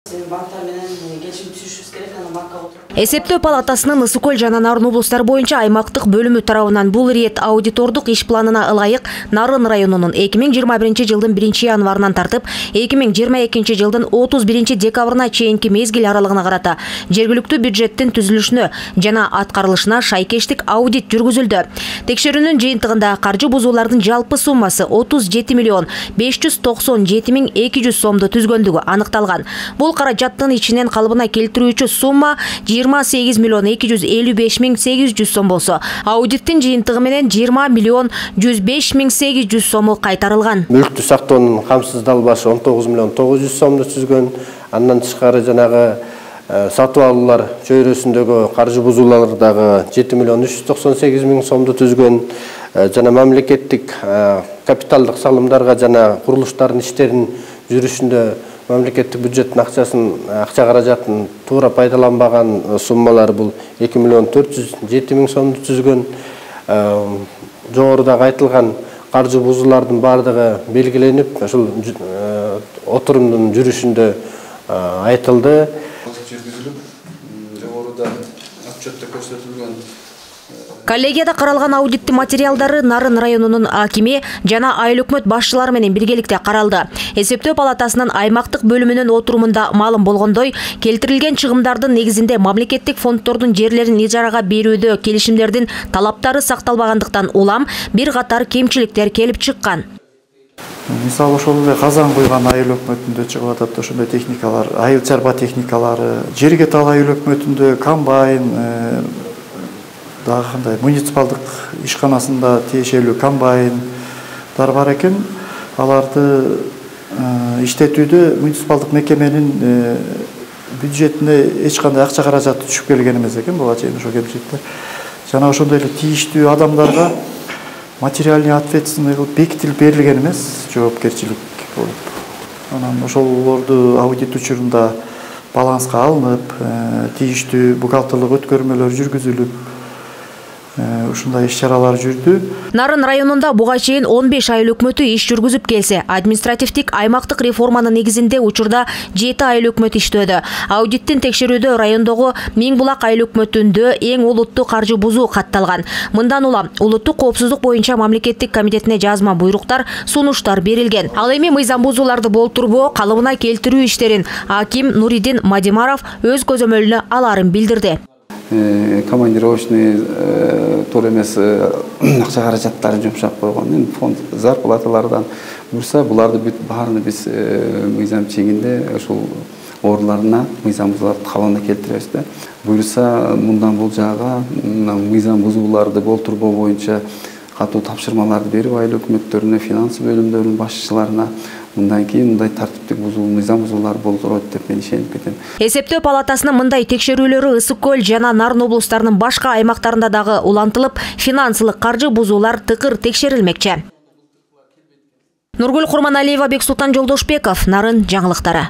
Банктар менен келишим түзүшүбүз керек, анан банкка отуруп. Эсептөө палатасынын Ысык Көл жана Нарын облустары боюнча аймактык бөлүмү тарабынан бул рет аудитордук иш планына ылайык Нарын районунун 2021 жылдын 1 январынан тартып 2022 жылдын 31 декабрына чейинки мезгил аралыгына карата жергиликтүү бюджеттин түзүлүшүнө жана аткарылышына шайкештик аудит жүргүзүлдү. Текшерүүнүн жыйынтыгында каржы бузуулардын жалпы суммасы 37 миллион 597 миң 200 сомду түзгөндүгү аныкталган. Бул каражаттын ичинен калыбына келтирүүчү сумма 28 миллион 255 миң 800 сом болсо, аудиттин жыйынтыгы менен 20 миллион 105 миң 800 сому кайтарылган. Мүлктү сактоонун камсыздалбашы 19 миллион 900 сомду түзгөн. Андан тышкары жанагы сатып алуулар чөйрөсүндөгү каржы бузуулардагы 7 миллион 398 миң сомду түзгөн. Жана мамлекеттик капиталдык салымдарга жана курулуштардын иштеринин жүрүшүндө мамлекеттик бюджеттин акча каражатын туура пайдаланбаган суммалар бул 2 миллион 407 миң сомду түзгөн. Жогоруда айтылган каржы бузуулардын бардыгы белгиленип, ошол отурумдун жүрүшүндө айтылды. Жогоруда отчетто көрсөтүлгөн Коллегияда каралган аудиттин материалдары Нарын районунун акими жана айыл өкмөт башчылары менен биргеликте каралды. Эсептөө палатасынын аймактык бөлүмүнүн отурумунда маалым болгондой, келтирилген чыгымдардын негизинде мамлекеттик фонддордун жерлерин ижарага берүүдө келишимдердин талаптары сакталбагандыктан улам бир катар кемчиликтер келип чыккан. Мисалы ошол эле казан куйган айыл өкмөтүндө чыгып атат ошондой техникалар, айыл чарба техникалары, жерге тал айыл өкмөтүндө комбайн, дагы кандай муниципалдык ишканасында тиешелүү комбайндар бар экен. Аларды иштетүүдө муниципалдык мекеменин бюджетине эч кандай акча каражаты түшүп келген эмес экен буга чейин ошо кемчиликтер. Жана ошондой эле тийиштүү адамдарга материальный ответственный кылып бекитилип берилген эмес, жоопкерчилик болуп. Анан ошолорду аудит учурунда баланска алынып, тийиштүү бухгалтерлык өткөрмөлөр жүргүзүлүп, ушундай иш-чаралар жүрдү. Нарын районунда буга чейин 15 айыл өкмөтү иш жүргүзүп келсе, административдик аймактык реформанын негизинде учурда 7 айыл өкмөт иштөөдө. Аудиттин текшерүүдө райондогу Миңбулак айыл өкмөтүндө эң олуттуу каржы бузуу катталган. Мындан улам улуттук коопсуздук боюнча мамлекеттик комитетине жазма буйруктар, сунуштар берилген. Ал эми мыйзам бузууларды болтурбоо, калыбына келтирүү иштерин аким Нуридин Мадимаров өз көзөмөлүнө аларын билдирди. Командировочный туура эмес акча каражаттарын жумшап койгон. Фонд зарплаталардан бурса, буларды бүт баарын биз мыйзам чегинде ошол орларына мыйзам бузууларды калыбына келтиребиз да. Буюрса, мындан бул жагга мыйзам бузууларды болтурбоо боюнча катуу тапшырмаларды берип айыл өкмөттөрүнө, финанс бөлүмдөрүнүн башчыларына мындан кийин мындай тартиптик мыйзам бузуулар болтурот деп мен ишенип кетем. Эсептөө палатасынын мындай текшерүүлөрү Ысык Көл жана Нарын облустарынын башка аймактарында дагы улантылып, финансылык каржы бузуулар тыкыр текшерилмекчи. Нургүл Курманалиева, Бексултан Жолдошбеков, Нарын жаңылыктары.